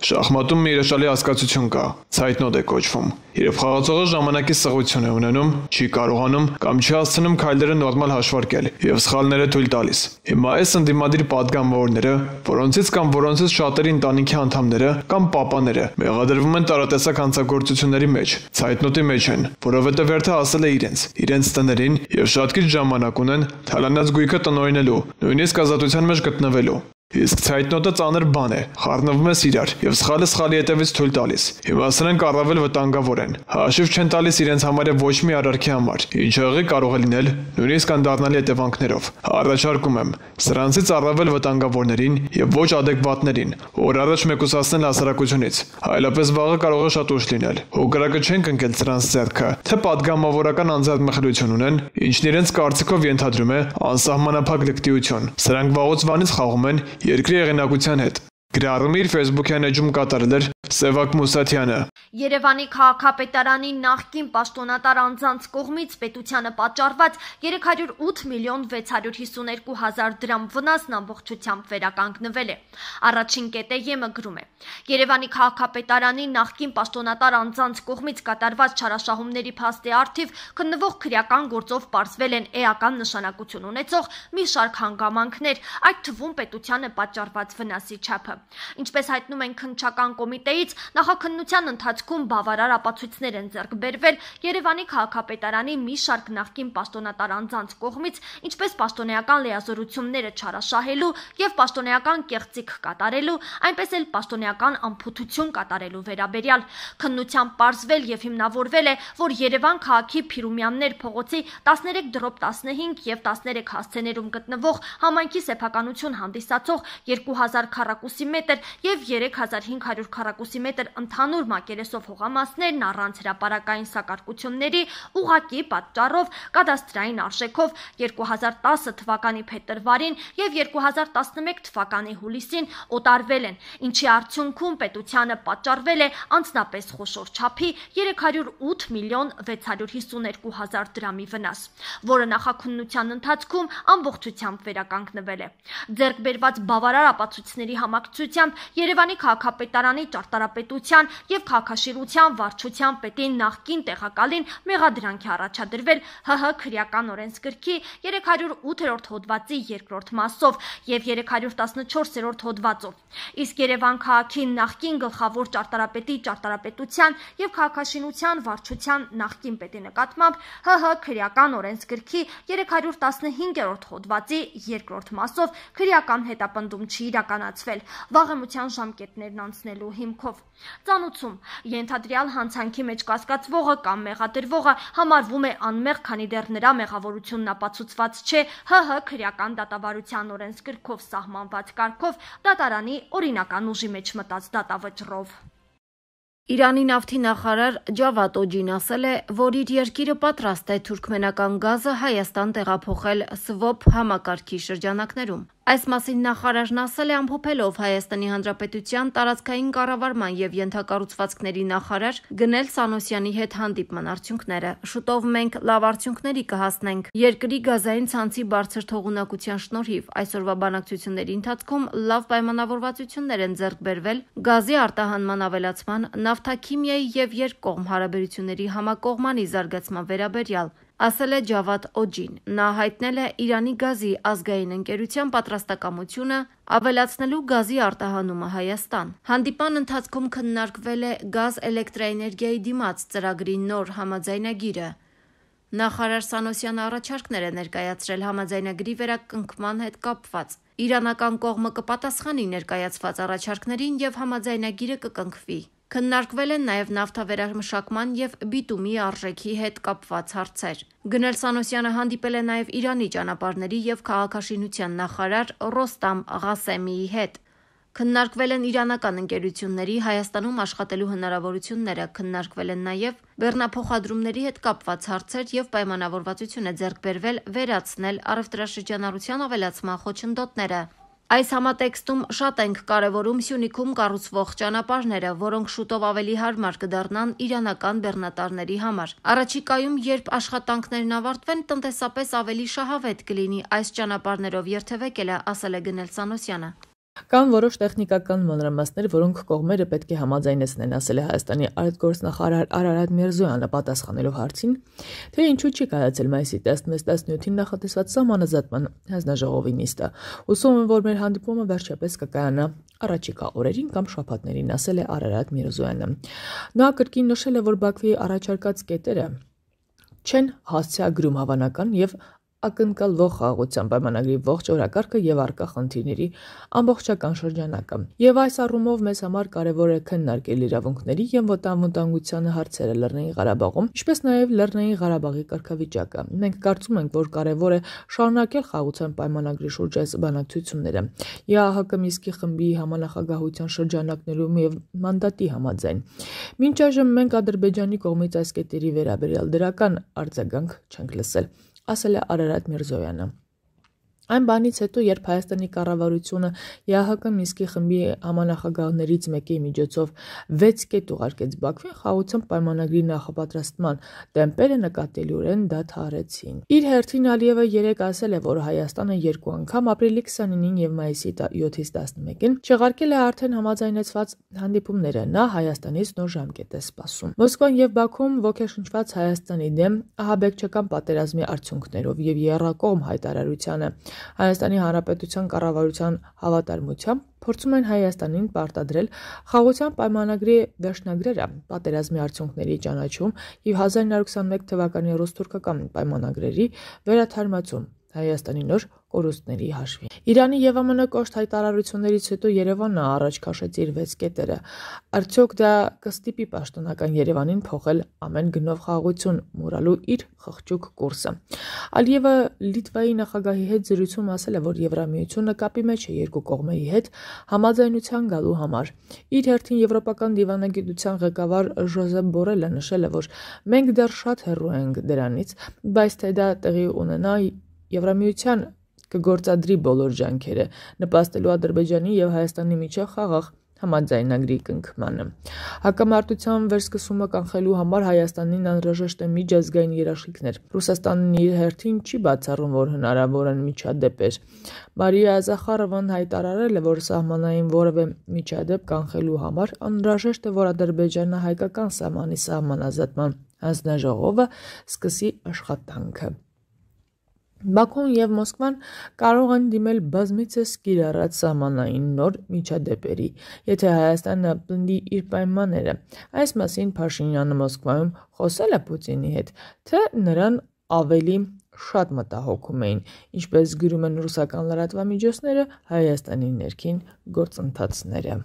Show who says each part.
Speaker 1: Շախմատում մի հրաշալի հասկացություն կա, ցայտնոտ է կոչվում։ Երբ խաղացողը ժամանակի սղություն է ունենում, չի կարողանում կամ չի հասցնում քայլերը նորմալ հաշվարկել եւ սխալները թույլ տալիս։ Հիմա այս ընդդիմադիր պատգամավորները, որոնցից կամ որոնցից շատերի ընտանիքի անդամները կամ պապաները մեղադրվում են տարատեսակ հանցագործությունների մեջ, ցայտնոտի մեջ են, որովհետեւ հերթը հասել է իրենց տներին եւ շատ քիչ ժամանակ ունեն թալանած գույքը տնօրինելու, նույնիսկ ազատության մեջ գտնվելու։ Իսկ ցայտնոտը ծանր բան է, խառնվում ես իրար եւ սխալը սխալի հետևից թույլ տալիս։ Հիմա սրանք առավել վտանգավոր են։ Հաշիվ չեն տալիս իրենց համարը ոչ մի արարքի համար, ինչը եղի կարող է լինել նույնիսկ անդառնալի հետևանքներով։ Առաջարկում եմ սրանցից առավել վտանգավորներին եւ ոչ ադեկվատներին, որ առաջ մեկուսացնել հասարակությունից, այլապես վաղը կարող է շատ ուշ լինել։ Հոգրակը չեն կնքել սրանց ձեռքը, թե падգամավորական անձեռնմխելիություն ունեն, ինչն իրենց կարծիքով ենթադրում է անսահմանափակ լկտիություն։ Սրանք վաղուց վանից խաղում են երկրի եղանակության հետ։ Գրառումը իր Facebook-յան էջում կատարել էր Սևակ Մուսաթյանը։
Speaker 2: Երևանի քաղաքապետարանի նախկին պաշտոնատար անձանց կողմից պետությանը պատճառված 308 միլիոն 652 հազար դրամ վնասն ամբողջությամբ վերականգնվել է։ Առաջին կետը ԵՄ գրում է. Երևանի քաղաքապետարանի նախկին պաշտոնատար անձանց կողմից կատարված չարաշահումների փաստի առթիվ քննվող քրեական գործով պարզվել են էական նշանակություն ունեցող մի շարք հանգամանքներ, այդ թվում պետությանը պատճառված վնասի չափը։ Ինչպես հայտնում են քննչական կոմիտեից, նախաքննության ընթացքում բավարար ապացույցներ են ձեռք բերվել Երևանի քաղաքապետարանի մի շարք նախկին պաշտոնատար անձանց կողմից, ինչպես պաշտոնեական լիազորությունները չարաշահելու եւ պաշտոնեական կեղծիք կատարելու, այնպես էլ պաշտոնեական անփութություն կատարելու վերաբերյալ։ Քննությամբ պարզվել եւ հիմնավորվել է, որ Երևան քաղաքի Փիրումյաններ փողոցի 13/15 եւ 13 հասցեներում գտնվող համայնքի սեփականություն հանդիսացող 2000 քառակուսի մետր եւ 3500 քառակուսի մետր ընդհանուր մակերեսով հողամասներն առանց հրապարակային սակարկությունների ուղղակի պատճառով կադաստրային արժեքով 2010 թվականի փետրվարին եւ 2011 թվականի հուլիսին օտարվել են, ինչի արդյունքում պետությանը պատճառվել է անձնապես խոշոր չափի 308 միլիոն 652 հազար դրամի վնաս, որը նախաքննության ընթացքում ամբողջությամբ վերականգնվել է։ Ձեռք բերված բավարար ապացույցների համակցությամբ Երևանի քաղաքապետարանի ճարտարապետության եւ քաղաքաշինության վարչության պետի նախկին տեղակալին մեղադրանք է առաջադրվել ՀՀ քրեական օրենսգրքի 308-րդ հոդվածի 2-րդ մասով եւ 314-րդ հոդվածով։ Իսկ Երևան քաղաքի նախկին գլխավոր ճարտարապետի ճարտարապետության եւ քաղաքաշինության վարչության նախկին պետի նկատմամբ ՀՀ քրեական օրենսգրքի 315-րդ հոդվածի 2-րդ մասով քրեական հետապնդում չի իրականացվել վաղեմության ժամկետներն անցնելու հիմքով։ Ծանուցում ենթադրյալ հանցանքի մեջ կասկածվողը կամ մեղադրվողը համարվում է անմեղ, քանի դեռ նրա մեղավորությունն ապացուցված չէ ՀՀ քրեական դատավարության օրենսգրքով սահմանված կարգով դատարանի օրինական ուժի մեջ մտած դատավճռով։
Speaker 3: Իրանի նավթի նախարար Ջավադ Օջին ասել է, որ իր երկիրը պատրաստ է թուրքմենական գազը Հայաստան տեղափոխել SWOP համակարգի շրջանակներում։ Այս մասին նախարարն ասել է ամփոփելով Հայաստանի Հանրապետության տարածքային կառավարման եւ ենթակառուցվածքների նախարար Գնել Սանոսյանի հետ հանդիպման արդյունքները։ Շուտով մենք լավ արդյունքների կհասնենք։ Երկրի գազային ցանցի բարձր թողունակության շնորհիվ այսօրվա բանակցությունների ընթացքում լավ պայմանավորվածություններ են ձեռք բերվել գազի արտահանման ավելացման, նավթաքիմիայի եւ երկկողմ հարաբերությունների համակողմանի զարգացման վերաբերյալ, ասել է Ջավադ Օջին։ Նա հայտնել է Իրանի գազի ազգային ընկերության պատրաստակամությունը ավելացնելու գազի արտահանումը Հայաստան։ Հանդիպան ընթացքում քննարկվել է գազ էլեկտրաէներգիայի դիմաց ծրագրի նոր համաձայնագիրը։ Նախարար Սանոսյանը առաջարկներ է ներկայացրել համաձայնագրի վերակնքման հետ կապված։ Իրանական կողմը կպատասխանի ներկայացված առաջարկներին եւ համաձայնագիրը կկնքվի։ Քննարկվել են նաև նավթավերամշակման եւ բիտումի արժեքի հետ կապված հարցեր։ Գնել Սանոսյանը հանդիպել է նաև Իրանի ճանապարհների եւ քաղաքաշինության նախարար Ռոստամ Ղասեմիի հետ։ Քննարկվել են իրանական ընկերությունների Հայաստանում աշխատելու հնարավորությունները, քննարկվել են նաև բեռնափոխադրումների հետ կապված հարցեր եւ պայմանավորվածություն է ձեռք բերվել վերացնել առևտրաշրջանառության ավելացման խոչընդոտները։ Այս համատեքստում շատ ենք կարևորում Սյունիքում կառուցվող ճանապարհները, որոնք շուտով ավելի հարմար կդառնան իրանական բեռնատարների համար։ Առաջիկայում, երբ աշխատանքներն ավարտվեն, տնտեսապես ավելի շահավետ կլինի այս ճանապարհներով երթևեկելը, ասել է Գնել Սանոսյանը։
Speaker 4: Կան որոշ տեխնիկական մանրամասներ, որոնք կողմերը պետք է համաձայնեցնեն, ասել է Հայաստանի արտգործնախարար Արարատ Միրզոյանը պատասխանելով հարցին, թե ինչու չի կայացել մայիսի 16-17-ին նախատեսված սահմանազատման հանձնաժողովի նիստը։ Հուսում եմ, որ մեր հանդիպումը վերջապես կկայանա առաջիկա օրերին կամ շաբաթներին, ասել է Արարատ Միրզոյանը։ Նա կրկին նշել է, որ Բաքվի առաջարկած կետերը չեն հասցեագրում հավանական եւ ակնկալվող խաղաղության պայմանագրի ողջ օրակարգը եւ առկա խնդիրների ամբողջական շրջանակը։ Եվ այս առումով մեզ համար կարևոր է քննարկել իրավունքների եւ ոտնավոտանգության հարցերը Լեռնային Ղարաբաղում, ինչպես նաեւ Լեռնային Ղարաբաղի կարգավիճակը։ Մենք կարծում ենք, որ կարևոր է շարունակել խաղաղության պայմանագրի շուրջ այս բանակցությունները։ ԵԱՀԿ Մինսկի խմբի համանախագահության շրջանակներում եւ մանդատի համաձայն։ Մինչ այժմ մենք Ադրբեջանի կողմից այս կետերի վերաբերյալ դրական արձագանք չենք լսել, ասել է Արարատ Միրզոյանը։ Այն բանից հետո, երբ Հայաստանի կառավարությունը ԵԱՀԿ Մինսկի խմբի համանախագահներից մեկի միջոցով 6 կետ ուղարկեց Բաքվին, խաղաղության պայմանագրի նախապատրաստման տեմպերը նկատելիորեն դադարեցին։ Իր հերթին Ալիևը երեկ ասել է, որ Հայաստանը երկու անգամ ապրիլի 29-ին եւ մայիսի 7-ից 11-ին չեղարկել է արդեն համաձայնեցված հանդիպումները։ Նա Հայաստանից նոր ժամկետ է սպասում։ Մոսկվան եւ Բաքուն ոգեշնչված Հայաստանի դեմ ահաբեկչական պատերազմի արդյունքներով եւ եռակողմ հայտարարությանը Հայաստանի Հանրապետության կառավարության հավատարմությամբ փորձում են Հայաստանին պարտադրել խաղաղության պայմանագրի վերջնագրերը, պատերազմի արդյունքների ճանաչում եւ 1921 թվականի ռուս-թուրքական պայմանագրերի վերաթարմացում Հայաստանի նոր կորուստների հաշվին։ Իրանի եւ ԱՄՆ կոշտ հայտարարություններից հետո Երևանը առաջ քաշեց իր 6 կետերը։ Արդյոք դա կստիպի պաշտոնական Երևանին փոխել ամեն գնով խաղաղություն մուրալու իր խղճուկ կուրսը։ Ալիևը Լիտվայի նախագահի հետ զրույցում ասել է, որ Եվրամիությունը կապի մեջ է երկու կողմերի հետ համաձայնության գալու համար։ Իր հերթին եվրոպական դիվանագիտության ղեկավար Ժոզեփ Բորելը նշել է, որ մենք դեռ շատ հեռու ենք դրանից, բայց թե դա տեղի ունենա Եվրամիության կգործադրի բոլոր ջանքերը, նպաստելու Ադրբեջանի եւ Հայաստանի միջև խաղաղ համաձայնագրի կնքմանը։ Հակամարտության վերսկսումը կանխելու համար Հայաստանին անհրաժեշտ է միջազգային երաշխիքներ։ Ռուսաստանն իր հերթին չի բացառում, որ հնարավոր են միջադեպեր։ Մարիա Զախարովան հայտարարել է, որ սահմանային որևէ միջադեպ կանխելու համար անհրաժեշտ է, որ Ադրբեջանը հայկական սահմանի սահմանազատման հանձնաժողովը սկսի աշխատանքը։ Բաքուն եւ Մոսկվան կարող են դիմել բազմիցս կիրառած սահմանային նոր միջադեպերի, եթե Հայաստանը պնդի իր պայմանները։ Այս մասին Փաշինյանը Մոսկվայում խոսել է Պուտինի հետ, թե նրան ավելի շատ մտահոգում էին, ինչպես գրում են ռուսական լրատվամիջոցները, Հայաստանի ներքին գործընթացները։